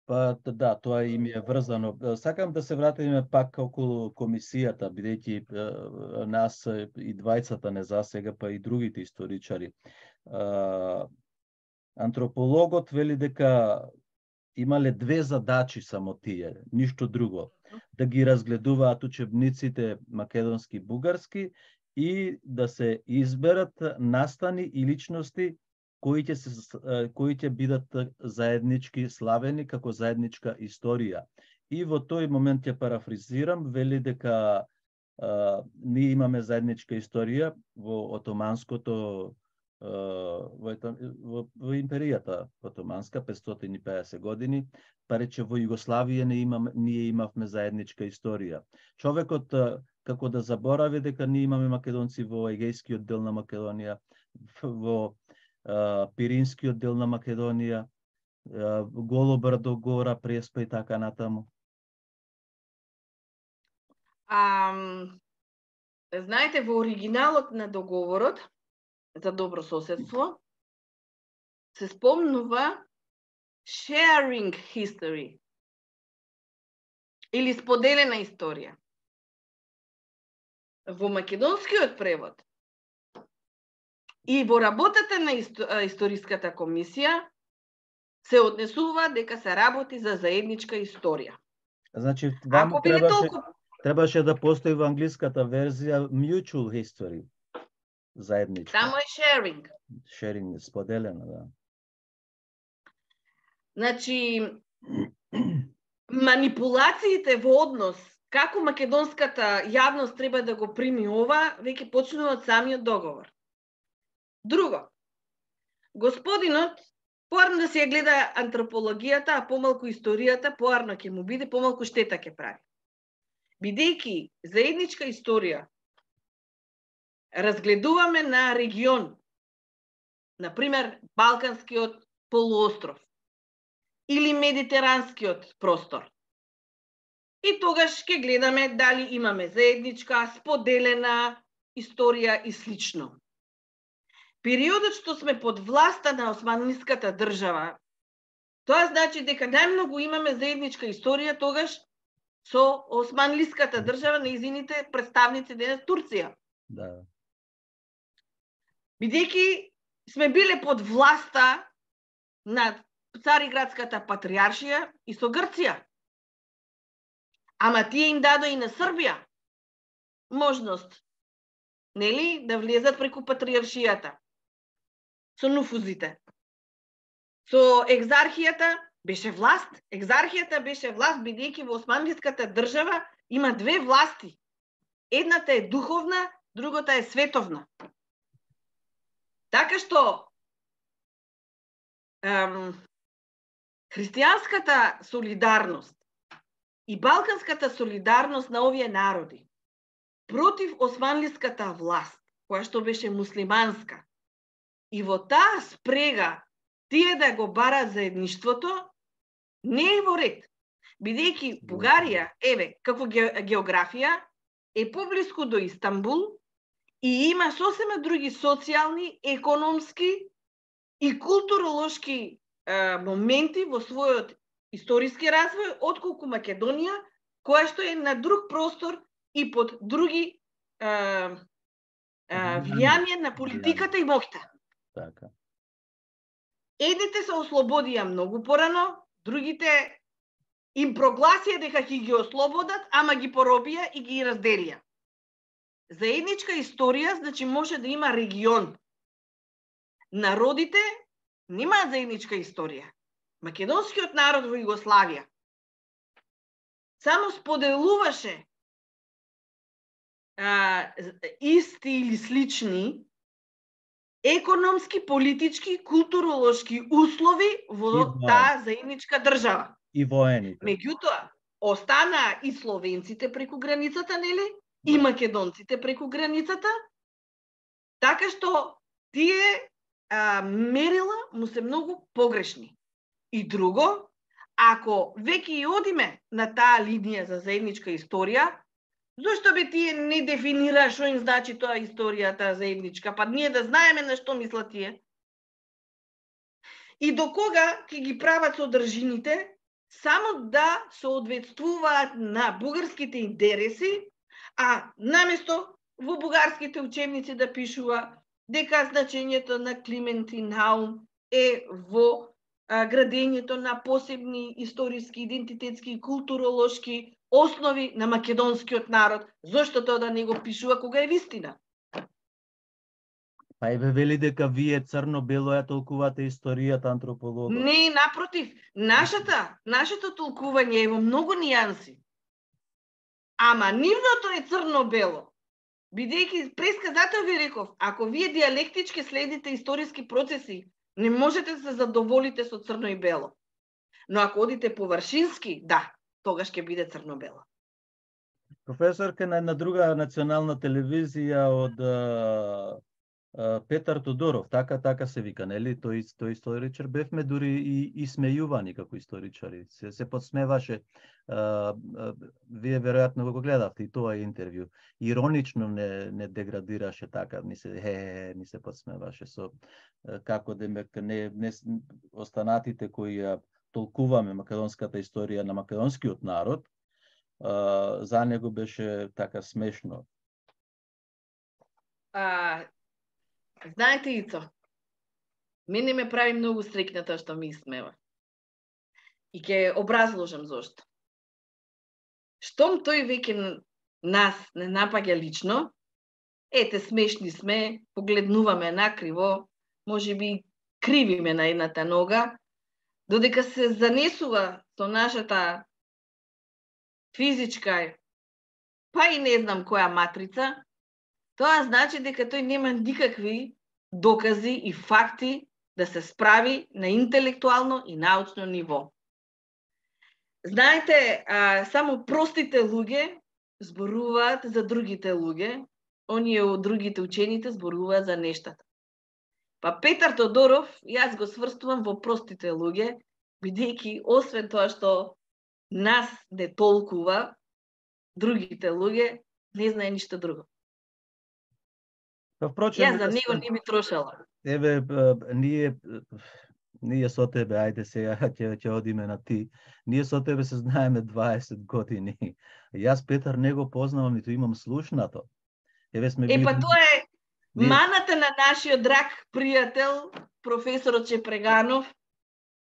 Па да, тоа им е врзано. Сакам да се вратиме пак околу комисијата, бидејќи нас и двајцата не засега, па и другите историчари. Антропологот вели дека имале две задачи само тие, ништо друго. Да ги разгледуваат учебниците македонски, бугарски и да се изберат настани и личности кои ќе се кои ќе бидат заеднички славени како заедничка историја. И во тој момент ќе парафризирам, вели дека а, ние имаме заедничка историја во отоманското во, во, во империјата отоманска петстотини и педесет години, па рече во Југославија не имаме, ние имавме заедничка историја. Човекот како да заборави дека ние имаме македонци во Егејскиот дел на Македонија, во uh, Пиринскиот дел на Македонија, uh, Голо брдо, Гора, Преспа и така натаму. А, знаете, во оригиналот на договорот за добро соседство се спомнува sharing history или споделена историја. Во македонскиот превод и во работата на историската комисија се однесува дека се работи за заедничка историја. Значи, вам Ако требаше, толку... требаше да постои во англиската верзија mutual history. Заедничка. Само е sharing. Sharing, споделена, да. Значи, манипулациите во однос како македонската јавност треба да го прими ова, веќе почнува од самиот договор. Друго, господинот поарно да си ја гледа антропологијата, а помалку историјата, поарно ќе му биде, помалку штета ќе прави. Бидејќи заедничка историја разгледуваме на регион, например Балканскиот полуостров или Медитеранскиот простор. И тогаш ќе гледаме дали имаме заедничка, споделена историја и слично. Периодот што сме под власта на османлиската држава, тоа значи дека најмногу имаме заедничка историја тогаш со османлиската држава, нејзините представници денес Турција. Да. Бидејќи сме биле под власта на Цариградската патриаршија и со Грција. Ама тие им дадо и на Србија можност, нели, да влезат преку патриаршијата. Со нуфузите. Со екзархијата беше власт. Екзархијата беше власт, бидејќи во османлиската држава има две власти. Едната е духовна, другата е световна. Така што ем, христијанската солидарност и балканската солидарност на овие народи против османлиската власт, која што беше муслиманска, и во таа спрега тие да го барат заедништвото, не е во ред. Бидејќи Бугарија, еве, како географија, е поблиску до Истанбул и има сосема други социјални, економски и културолошки е, моменти во својот историски развој, отколку Македонија, која што е на друг простор и под други е, е, влијание на политиката и моќта. Така. Едните се ослободија многу порано, другите им прогласија дека ќе ги ослободат, ама ги поробија и ги разделија. Заедничка историја, значи може да има регион. Народите немаат заедничка историја. Македонскиот народ во Југославија само споделуваше а, исти или слични економски, политички, културолошки услови во таа заедничка држава. И воените. Меѓутоа, останаа и словенците преку границата, нели? И македонците преку границата. Така што тие а, мерила му се многу погрешни. И друго, ако веќе и одиме на таа линија за заедничка историја, зошто би тие не дефинира што им значи тоа историјата заедничка? Па ние да знаеме на што мислат тие. и до кога ќе ги прават содржините, само да соодветствуваат на бугарските интереси, а наместо во бугарските учебници да пишува дека значењето на Климентин Наум е во а, градењето на посебни историски, идентитетски и културолошки основи на македонскиот народ. Зошто тоа да не го пишува кога е вистина? Па еве вели дека вие црно-бело ја толкувате историјата, антропологот. Не, напротив, нашата, нашето толкување е во многу нијанси. Ама нивното е црно-бело. Бидејќи пресказател ви реков, ако вие диалектички следите историски процеси, не можете да се задоволите со црно и бело. Но ако одите површински, да, тогаш ќе биде црно-бело. Професорка на една друга национална телевизија од а, а, Петар Тодоров, така така се вика, нели? Тој тој историчар, бевме дури и исмејувани како историчари. Се се подсмеваше. А, а, вие веројатно го гледавте и тоа интервју. Иронично не не деградираше така, ни се е, ни се подсмеваше со како демек не, не останатите кои ја толкуваме македонската историја на македонскиот народ, а, за него беше така смешно. А, знаете, Ицо, мене ме прави многу среќна тоа што ми смева. И ќе образложам зошто. Штом тој веќе нас не напаѓа лично, ете, смешни сме, погледнуваме накриво, може би кривиме на едната нога, додека се занесува со нашата физичка, па и не знам која матрица, тоа значи дека тој нема никакви докази и факти да се справи на интелектуално и научно ниво. Знаете, а, само простите луѓе зборуваат за другите луѓе, оние од другите учените зборуваат за нештата. Па Петар Тодоров, јас го сврстувам во простите луѓе, бидејќи освен тоа што нас не толкува, другите луѓе не знае ништо друго. Па впрочем, јас за него не би трошала. Еве, ние ние со тебе, ајде сега ќе ќе одиме на ти. Ние со тебе се знаеме дваесет години. Јас Петар не го познавам, ниту имам слушнато. Еве сме Е, па тоа е ние... маната на нашиот драг пријател, професорот Чепреганов,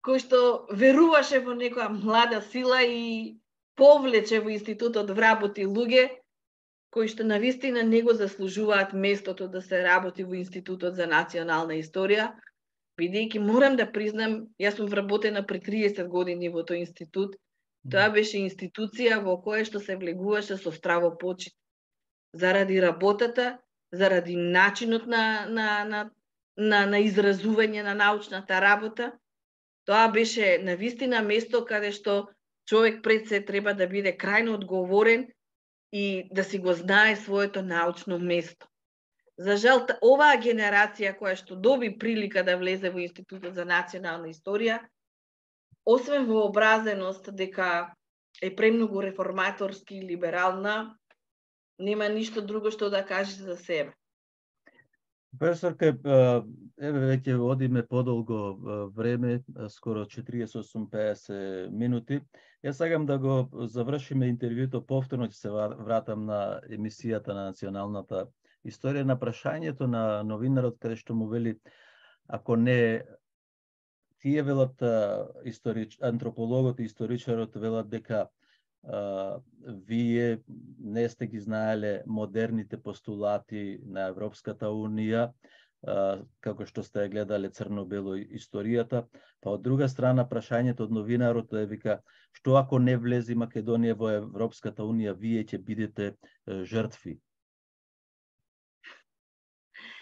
кој што веруваше во некоја млада сила и повлече во институтот вработи луѓе кои што навистина не го заслужуваат местото да се работи во Институтот за национална историја, бидејќи морам да признам, јас сум вработена при триесет години во тој институт. Тоа беше институција во која што се влегуваше со здраво почит. Заради работата, заради начинот на, на, на, на, на изразување на научната работа, тоа беше навистина место каде што човек пред се треба да биде крајно одговорен и да си го знае своето научно место. За жал, оваа генерација која што доби прилика да влезе во Институтот за национална историја, освен вообразеност дека е премногу реформаторски и либерална, нема ништо друго што да каже за себе. Професорка, еве веќе одиме подолго време, скоро четириесет осум пеесет минути. Јас сакам да го завршиме интервјуто, повторно ќе се вратам на емисијата на националната историја, на прашањето на новинарот каде што му вели, ако не тие велат историч, антропологот и историчарот велат дека Uh, вие не сте ги знаеле модерните постулати на Европската Унија, uh, како што сте гледале црно-бело историјата, па од друга страна прашањето од новинарот е вика, што ако не влези Македонија во Европската Унија, вие ќе бидете uh, жртви?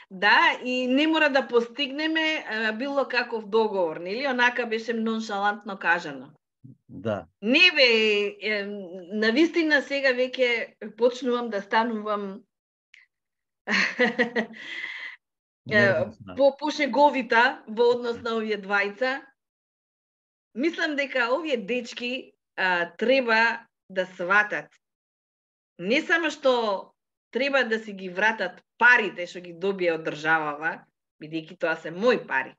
Да, и не мора да постигнеме uh, било каков договор, нели? Онака беше ноншалантно кажано. Да. Не бе, навистина сега веќе почнувам да станувам по пошеговита во однос на овие двајца. Мислам дека овие дечки а, треба да сватат. Не само што треба да си ги вратат парите што ги добија од државава, бидејќи тоа се мои пари.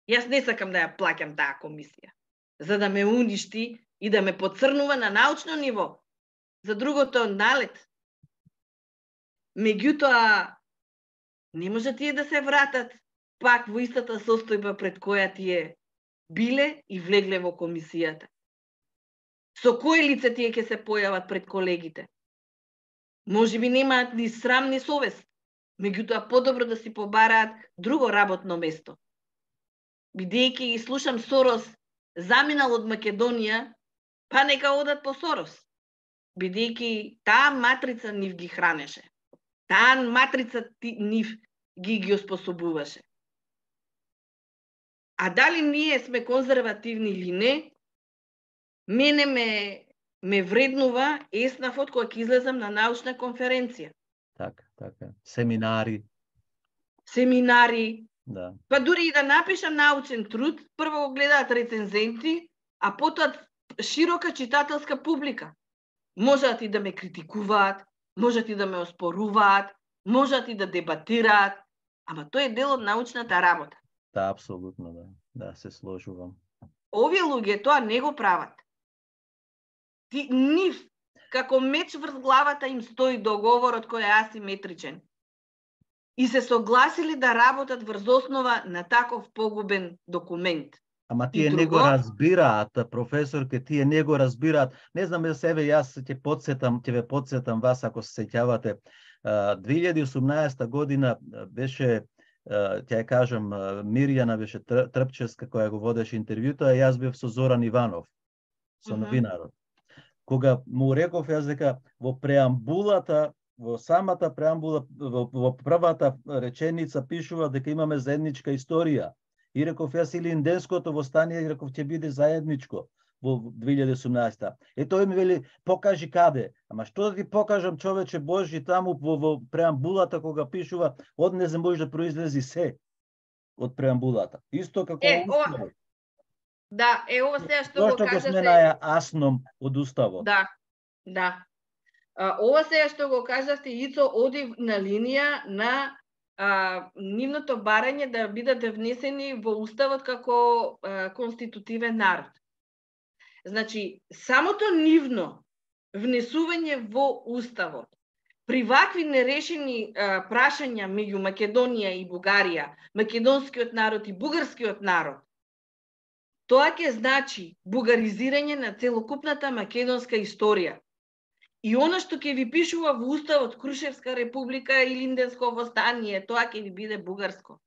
Јас не сакам да ја плаќам таа комисија, за да ме уништи и да ме поцрнува на научно ниво. За другото налет. Меѓутоа, не може тие да се вратат пак во истата состојба пред која тие биле и влегле во комисијата. Со кое лице тие ќе се појават пред колегите? Може би немаат ни срам ни совест, меѓутоа подобро да си побараат друго работно место. Бидејќи ги слушам Сорос заминал од Македонија, па нека одат по Сорос. Бидејќи таа матрица нив ги хранеше. Таа матрица нив ги ги оспособуваше. А дали ние сме конзервативни или не, мене ме, ме вреднува еснафот кога ќе излезам на научна конференција. Така, така. Семинари. Семинари. Да. Па дури и да напишам научен труд, прво го гледаат рецензенти, а потоа широка читателска публика. Можат и да ме критикуваат, можат и да ме оспоруваат, можат и да дебатираат, ама тој е дел од научната работа. Да, апсолутно, да. Да, се сложувам. Овие луѓе тоа не го прават. Ти, нив, како меч врз главата им стои договорот кој е асиметричен. И се согласили да работат врз основа на таков погубен документ. Ама тие друго... не го разбираат, професорке, тие не го разбираат. Не знам, себе јас ќе подсетам, ќе ве подсетам вас ако се сеќавате. две илјади и осумнаесета година беше, ќе ја кажам, Мирјана беше Трпчевска која го водеше интервјуто, а јас бев со Зоран Иванов, со новинарот. Кога му реков јас дека во преамбулата, во самата преамбула, во, во првата реченица пишува дека имаме заедничка историја. И реков јас или инденското востание, и реков ќе биде заедничко во две илјади и осумнаесета. Е тој ми вели, покажи каде. Ама што да ти покажам, човече Божи, таму во, во преамбулата кога пишува, од не може да произлези се од преамбулата. Исто како е, ова... Да, е ова сега што го кажате. Зошто го сменаја асном од уставот? Да, да. А, ова сега што го кажавте, Ицо, оди на линија на а, нивното барање да бидат внесени во уставот како а, конститутивен народ. Значи, самото нивно внесување во уставот при вакви нерешени а, прашања меѓу Македонија и Бугарија, македонскиот народ и бугарскиот народ, тоа ќе значи бугаризирање на целокупната македонска историја. И она што ќе ви пишува во уставот Крушевска република или Инденско востание, тоа ќе ви биде бугарско.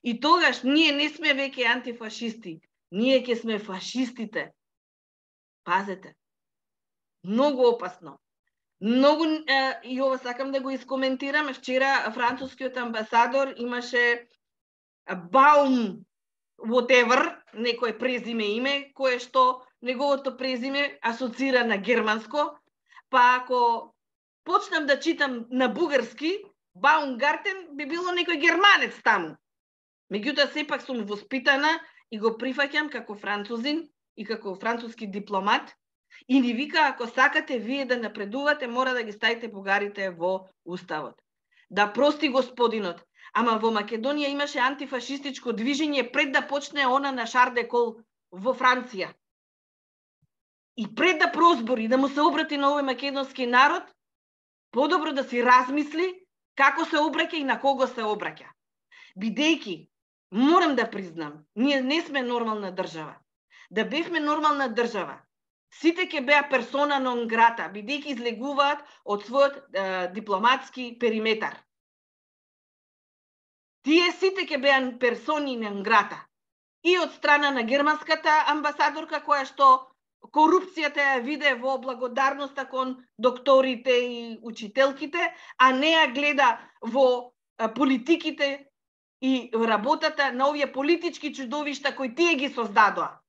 И тогаш ние не сме веќе антифашисти, ние ќе сме фашистите. Пазете. Многу опасно. Многу, е, и ова сакам да го искоментирам, вчера францускиот амбасадор имаше Баум whatever, некој презиме име, кое што неговото презиме асоцира на германско, па ако почнам да читам на бугарски, Баумгартен би било некој германец таму. Меѓутоа сепак сум воспитана и го прифаќам како французин и како француски дипломат и ни вика, ако сакате вие да напредувате, мора да ги ставите бугарите во уставот. Да прости господинот, ама во Македонија имаше антифашистичко движење пред да почне она на Шар де Кол во Франција. И пред да прозбори, да му се обрати на овој македонски народ, подобро да си размисли како се обраќа и на кого се обраќа. Бидејќи, морам да признам, ние не сме нормална држава. Да бевме нормална држава, сите ќе беа персона нон грата, бидејќи излегуваат од својот е, дипломатски периметар. Тие сите ќе беа персони нон грата. И од страна на германската амбасадорка, која што корупцијата ја виде во благодарноста кон докторите и учителките, а не ја гледа во политиките и работата на овие политички чудовишта кои тие ги создадоа.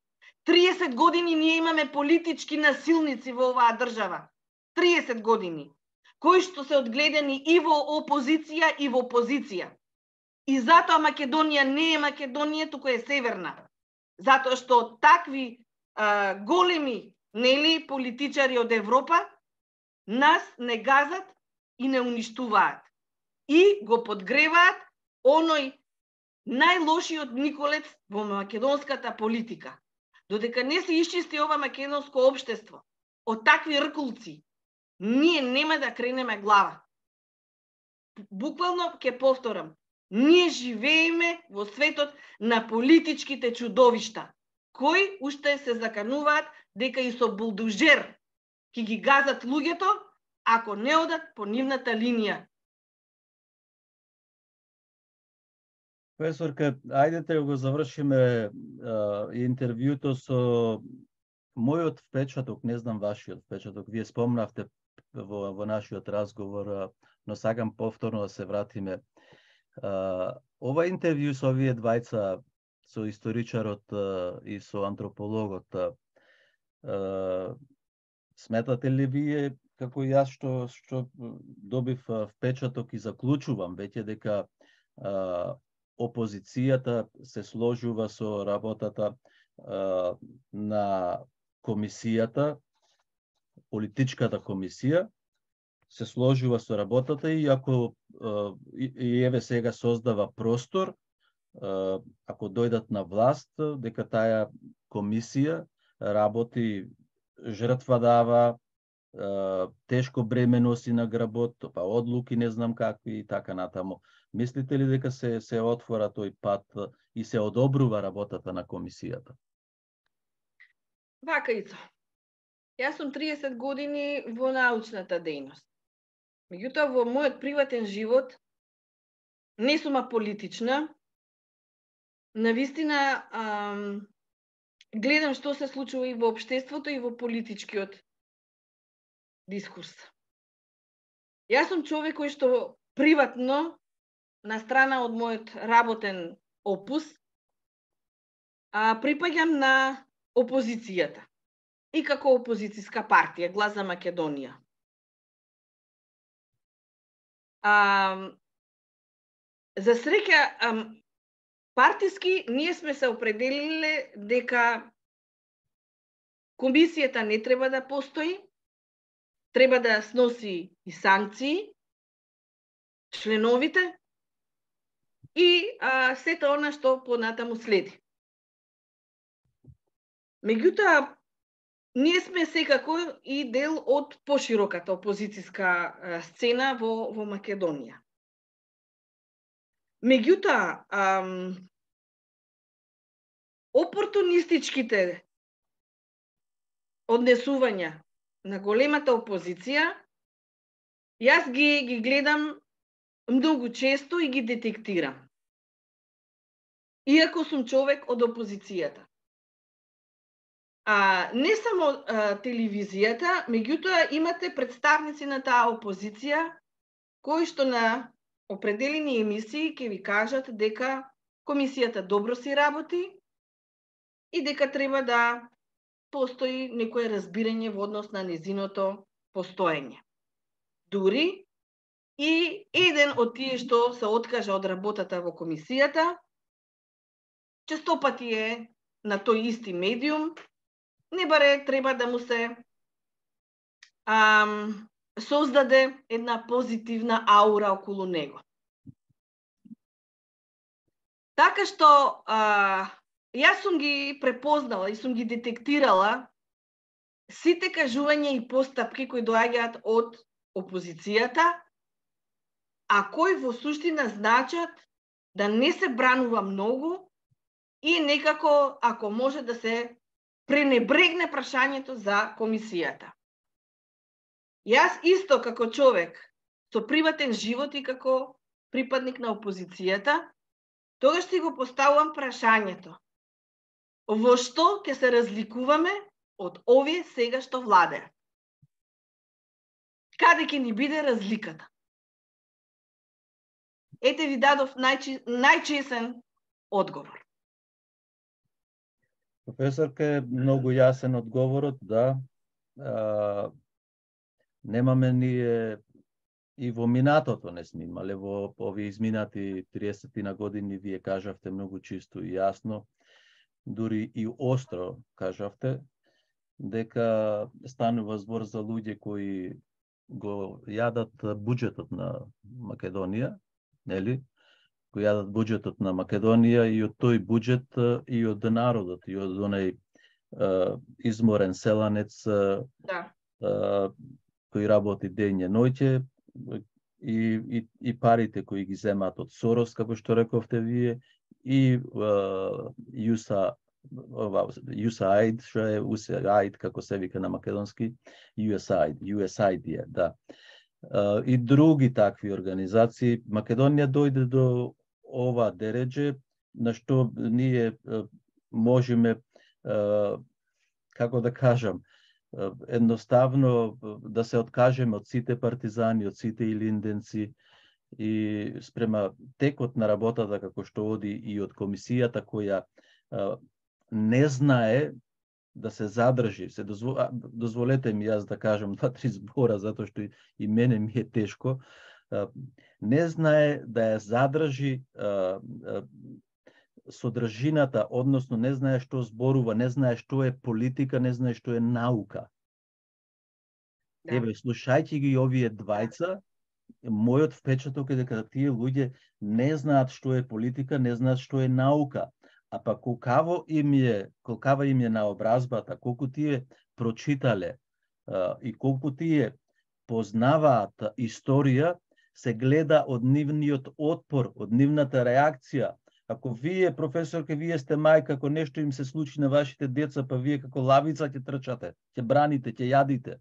триесет години ние имаме политички насилници во оваа држава. триесет години. Кои што се одгледани и во опозиција и во позиција. И затоа Македонија не е Македонија, туку е северна. Затоа што такви а, големи, нели, политичари од Европа нас не газат и не уништуваат. И го подгреваат оној најлошиот Николец во македонската политика. Додека не се исчисти ова македонско општество од такви ркулци, ние нема да кренеме глава. Буквално ќе повторам, ние живееме во светот на политичките чудовишта, кои уште се закануваат дека и со булдужер ќе ги газат луѓето ако не одат по нивната линија. Професорка, ајдете го завршиме а, интервјуто со мојот впечаток, не знам вашиот впечаток. Вие спомнавте во, во нашиот разговор, но сакам повторно да се вратиме. А, ова интервју со овие двајца, со историчарот а, и со антропологот, а, сметате ли вие, како јас што, што добив впечаток и заклучувам веќе дека а, опозицијата се сложува со работата а, на комисијата, политичката комисија, се сложува со работата и ако а, и, и еве сега создава простор, а, ако дојдат на власт, дека таа комисија работи, жртва дава, тешко бреме носи на гработ, па одлуки не знам какви и така натаму. Мислите ли дека се се отвора тој пат и се одобрува работата на комисијата? Вака Ицо. Јас сум триесет години во научната дејност. Меѓутоа во мојот приватен живот не сум аполитична. Навистина ам, гледам што се случува и во општеството и во политичкиот дискурс. Јас сум човек кој што приватно, на страна од мојот работен опус, а, припаѓам на опозицијата и како опозицијска партија, Глас за Македонија. А, за среќа, партиски ние сме се определиле дека комисијата не треба да постои, треба да сноси и санкции, членовите и а, сето она што понатаму следи. Меѓутоа, ние сме секако и дел од пошироката опозицијска сцена во, во Македонија. Меѓутоа, ам, опортунистичките однесувања на големата опозиција, јас ги, ги гледам многу често и ги детектирам. Иако сум човек од опозицијата. А, не само а, телевизијата, меѓутоа имате представници на таа опозиција кои што на определени емисии ќе ви кажат дека комисијата добро си работи и дека треба да постои некое разбирање во однос на незиното постоење. Дури и еден од тие што се откажа од работата во комисијата, честопати е на тој исти медиум, не баре треба да му се ам, создаде една позитивна аура околу него. Така што а, јас сум ги препознала и сум ги детектирала сите кажувања и постапки кои доаѓаат од опозицијата, а кои во суштина значат да не се бранува многу и некако, ако може, да се пренебрегне прашањето за комисијата. Јас исто како човек со приватен живот и како припадник на опозицијата, тогаш си го поставувам прашањето: во што ќе се разликуваме од овие сега што владеат? Каде ќе ни биде разликата? Ете ви дадов најчи, најчесен одговор. Професорка, многу јасен одговорот, да. А, немаме ние и во минатото не сме имале, во овие изминати триесет на години, вие кажавте многу чисто и јасно, дури и остро кажавте, дека станува збор за луѓе кои го јадат буџетот на Македонија, нели? кои јадат буџетот на Македонија и од тој буџет и од народот и од онај изморен селанец Да. кој работи дење ноќе и, и, и парите кои ги земаат од Сорос, како што рековте вие, и ю ес ей ай ди, што е ю ес ей ай ди, како се вика на македонски, ю ес ей ай ди, ю ес ей ай ди е, да. И други такви организации. Македонија дојде до ова дередже, на што ние можеме, како да кажам, едноставно да се откажеме од сите партизани, од сите илинденци и спрема текот на работата како што оди и од комисијата која не знае да се задржи. Се дозвол... дозволете ми јас да кажам два-три збора, затоа што и мене ми е тешко. Не знае да ја задржи содржината, односно не знае што зборува, не знае што е политика, не знае што е наука. Да. Еве, слушајќи ги овие двајца, мојот впечаток е дека тие луѓе не знаат што е политика, не знаат што е наука. А па колкаво им е, колкава им е наобразбата, колку тие прочитале а, и колку тие познаваат историја, се гледа од нивниот отпор, од нивната реакција. Ако вие, професорке, вие сте мајка, ако нешто им се случи на вашите деца, па вие како лавица ќе трчате, ќе браните, ќе јадите.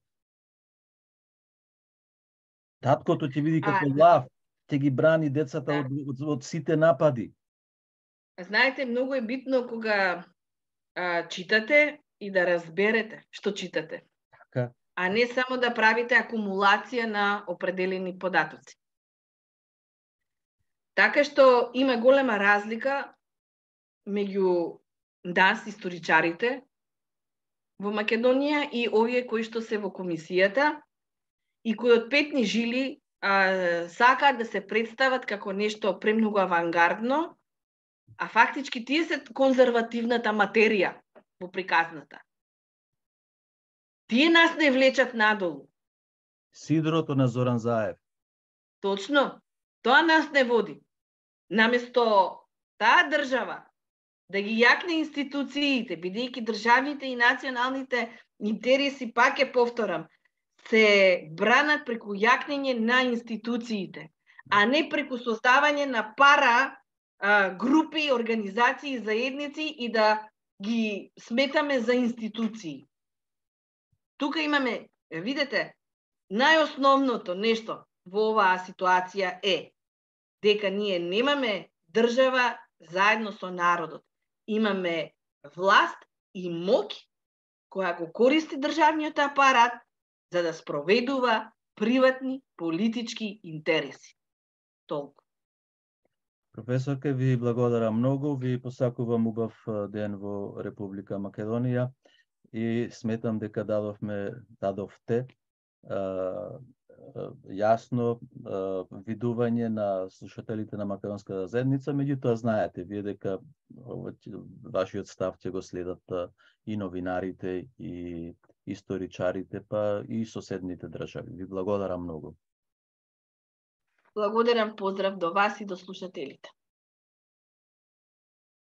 Таткото ќе види како а, лав, ќе ги брани децата да. од, од, од сите напади. Знаете, многу е битно кога а, читате и да разберете што читате. Така. А не само да правите акумулација на определени податоци. Така што има голема разлика меѓу нас, историчарите, во Македонија и овие кои што се во комисијата и кои од петни жили а, сакаат да се представат како нешто премногу авангардно, а фактички тие се конзервативната материја во приказната. Тие нас не влечат надолу. Сидрото на Зоран Заев. Точно. Тоа нас не води. Наместо таа држава да ги јакне институциите, бидејќи државните и националните интереси, пак е повторам, се бранат преку јакнење на институциите, а не преку создавање на пара а, групи, организации, заедници и да ги сметаме за институции. Тука имаме, видете, најосновното нешто во оваа ситуација е дека ние немаме држава заедно со народот. Имаме власт и моќ која го користи државниот апарат за да спроведува приватни политички интереси. Толку. Професорке, ви благодарам многу, ви посакувам убав ден во Република Македонија и сметам дека дадовме, дадовте а, јасно видување на слушателите на Македонската заедница, меѓутоа знаете вие дека вашиот став ќе го следат и новинарите, и историчарите, па и соседните држави. Ви благодарам многу. Благодарам, поздрав до вас и до слушателите.